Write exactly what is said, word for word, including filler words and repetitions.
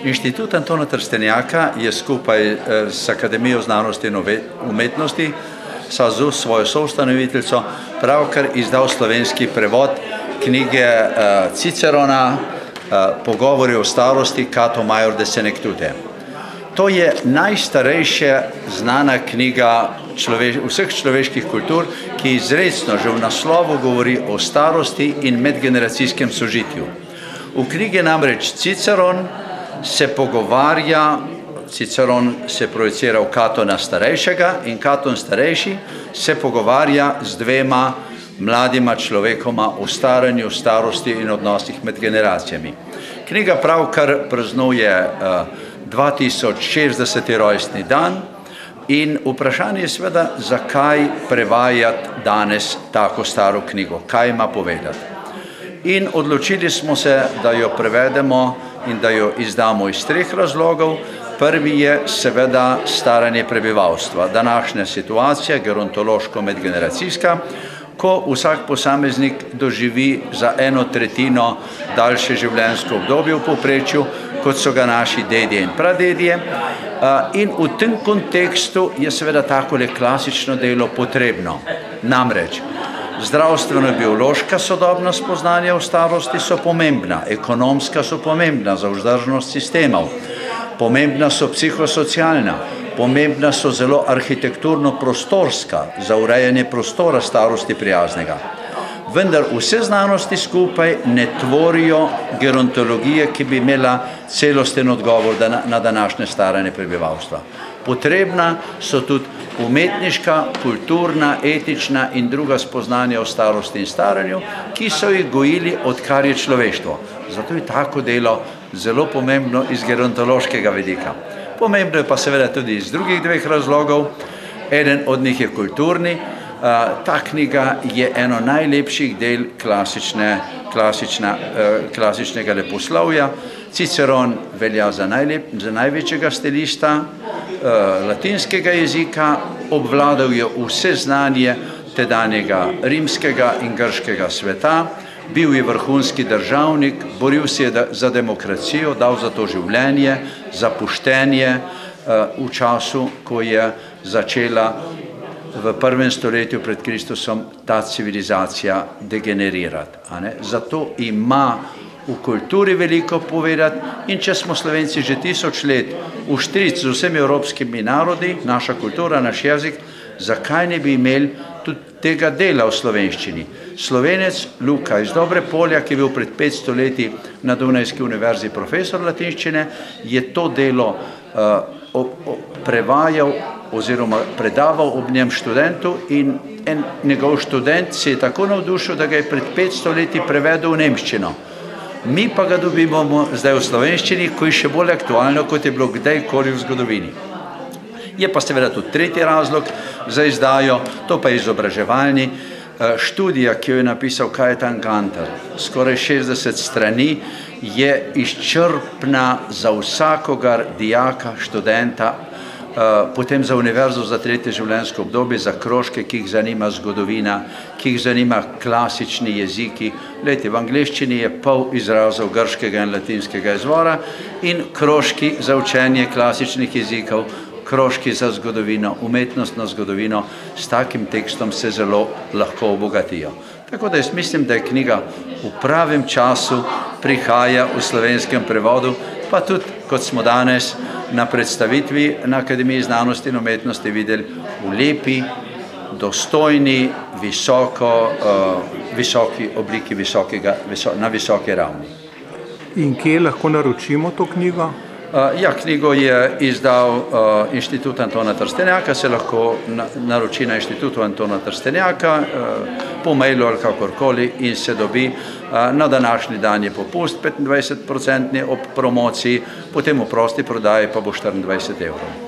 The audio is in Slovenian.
Inštitut Antona Trstenjaka je skupaj s Akademijo znanosti in umetnosti SAZU, svojo soustanoviteljico, pravkar izdal slovenski prevod knjige Cicerona Pogovori o starosti Cato Major de Senectute. To je najstarejša znana knjiga človeš, vseh človeških kultur, ki izrecno že v naslovu govori o starosti in medgeneracijskem sožitju. V knjigi namreč Ciceron se pogovarja, Ciceron se projicira v Catona starejšega in Caton starejši se pogovarja z dvema mladima človekoma o staranju, starosti in odnosih med generacijami. Knjiga pravkar praznuje dva tisoč šestdeseti rojstni dan in vprašanje je seveda, zakaj prevajati danes tako staro knjigo, kaj ima povedati. In odločili smo se, da jo prevedemo in da jo izdamo iz treh razlogov. Prvi je seveda staranje prebivalstva, današnja situacija, gerontološko-medgeneracijska, ko vsak posameznik doživi za eno tretjino daljše življenjsko obdobje v povprečju, kot so ga naši dedje in pradedje. In v tem kontekstu je seveda takole klasično delo potrebno. Namreč, zdravstveno-biološka sodobna spoznanja o starosti so pomembna, ekonomska so pomembna za vzdržnost sistemov, pomembna so psihosocialna, pomembna so zelo arhitekturno-prostorska za urejanje prostora starosti prijaznega. Vendar vse znanosti skupaj ne tvorijo gerontologije, ki bi imela celosten odgovor na današnje staranje prebivalstva. Potrebna so tudi umetniška, kulturna, etična in druga spoznanja o starosti in staranju, ki so jih gojili, odkar je človeštvo. Zato je tako delo zelo pomembno iz gerontološkega vidika. Pomembno je pa seveda tudi iz drugih dveh razlogov. Eden od njih je kulturni. Ta knjiga je eno najlepših del klasične, klasična, klasičnega leposlovja. Ciceron velja za, najlep, za največjega stilista latinskega jezika, obvladal je vse znanje tedanjega rimskega in grškega sveta, bil je vrhunski državnik, boril se je za demokracijo, dal za to življenje, za poštenje v času, ko je začela v prvem stoletju pred Kristusom ta civilizacija degenerirati. Zato ima v kulturi veliko povedati in če smo Slovenci že tisoč let vštric z vsemi evropskimi narodi, naša kultura, naš jezik, zakaj ne bi imeli tudi tega dela v slovenščini? Slovenec Luka iz Dobre Polja, ki je bil pred petsto leti na Dunajski univerzi profesor latinščine, je to delo uh, o, o, prevajal oziroma predaval ob njem študentu in en njegov študent se je tako navdušil, da ga je pred petsto leti prevedel v nemščino. Mi pa ga dobimo zdaj v slovenščini, ko je še bolj aktualno, kot je bilo kdajkoli v zgodovini. Je pa seveda tudi tretji razlog za izdajo, to pa je izobraževalni. Študija, ki jo je napisal Kajetan Gantar, skoraj šestdeset strani, je izčrpna za vsakogar dijaka, študenta, potem za univerzo za tretje življenjsko obdobje, za krožke, ki jih zanima zgodovina, ki jih zanima klasični jeziki. Glejte, v angleščini je pol izrazov grškega in latinskega izvora in krožki za učenje klasičnih jezikov, krožki za zgodovino, umetnostno zgodovino, s takim tekstom se zelo lahko obogatijo. Tako da jaz mislim, da je knjiga v pravem času prihaja v slovenskem prevodu, pa tudi, kot smo danes na predstavitvi na Akademiji znanosti in umetnosti videli, v lepi, dostojni, visoko, uh, visoki obliki, visokega, viso, na visoki ravni. In kje lahko naročimo to knjigo? Uh, ja, knjigo je izdal uh, Inštitut Antona Trstenjaka, se lahko na, naroči na Inštitutu Antona Trstenjaka, uh, po mailu ali kakorkoli in se dobi. Uh, na današnji dan je popust petindvajset procentni ob promociji, potem v prosti prodaji pa bo štiriindvajset evrov.